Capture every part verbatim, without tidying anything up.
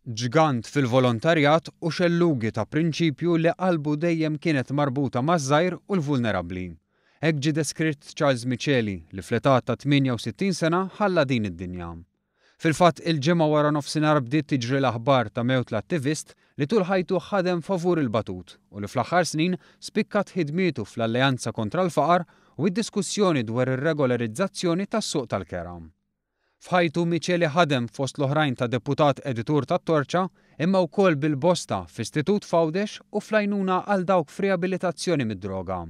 Ġgant fil-volontarjat u xellugi ta' prinċipju li qalbu dejjem kienet marbuta maż-żgħir u l-vulnerabbli. Hekk ġie deskritt Charles Miceli li fl-età ta' tmienja u sittin sena ħalla din id-dinja. Fil-fatt, il-Ġimgħa wara nofsinhar bdiet tiġri l-aħbar ta' mewt l-attivist li tul ħajtu ħadem favur il-batut u li fl-aħħar snin spikkat ħidmietu fl-Alleanza kontra l-Faqar u d-diskussjoni dwar ir-regolarizzazzjoni tas-suq tal-kera. F'ħajtu Miceli ħadem fost l-oħrajn ta' deputat editur tat-Torċa, imma wkoll bil-bosta f'istitut f'Għawdex u fl-għajnuna għal dawk f'riabilitazzjoni mid-droga.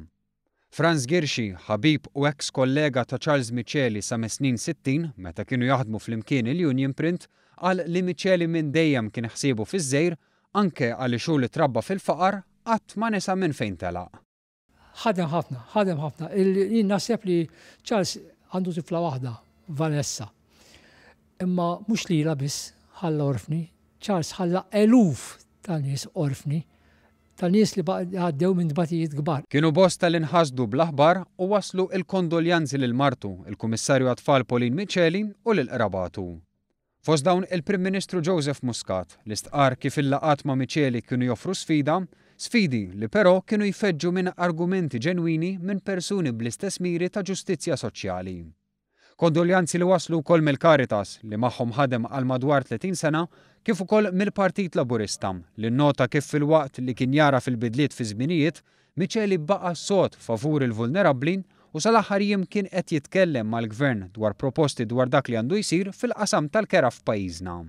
Frans Ghirxi, ħabib u ex kollega ta' Charles Miceli sa mis-snin sittin meta kienu jaħdmu flimkien il-Union Print, qal li Miceli minn dejjem kien ħsiebu fiż-żejr, anke għaliex hu li trabba fil-faqar qatt ma nesa minn fejn telaq. Ħadem ħafna, ħadem ħafna. Jien naħseb li Charles għandu tifla waħda, Vanessa. Imma mhux lila biss ħalla orfni, Charles ħalla eluf ta' nies orfni, ta' nies li għaddew minn tbatijiet kbar. Kienu bosta li nħasdu bl-aħbar u waslu il-kondoljanzi lil martu, il-Kummissarju għat-Tfal Pauline Miceli u lil qrabatu. Fost dawn il-Prim Ministru Joseph Muscat li stqar kif il-laqgħat ma' Miceli kienu joffru sfida, sfidi li però kienu jfeġġu minn argumenti ġenwini minn persuni bl-istess miri ta' ġustizzja soċjali. Kondoljanzi li waslu wkoll mill-Caritas li magħhom ħadem għal madwar tletin sena, kif ukoll mill-Partit Laburista li nnota kif fil-waqt li kien jara fil-bidliet fi żminijiet, Miceli baqa' sod favur il-vulnerabbli u sal-aħħar jiem kien qed jitkellem mal-gvern dwar proposti dwar dak li għandu jsir fil-qasam tal-kera f'pajjiżna.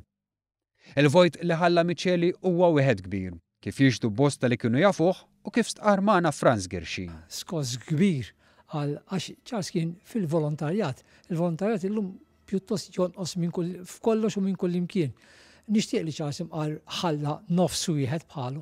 Il-vojt li ħalla Miceli huwa wieħed kbir, kif jixhdu bosta li kienu jafuh u kif stqar magħna Frans Ghirxi. Skos kbir għal għax Charles kien fil-volontarjat. Il-volontarjat illum pjuttost jonqos minn kull f'kollox u minn kull imkien. Nixtieq li Charles imqar ħalla nofs wieħed bħalu.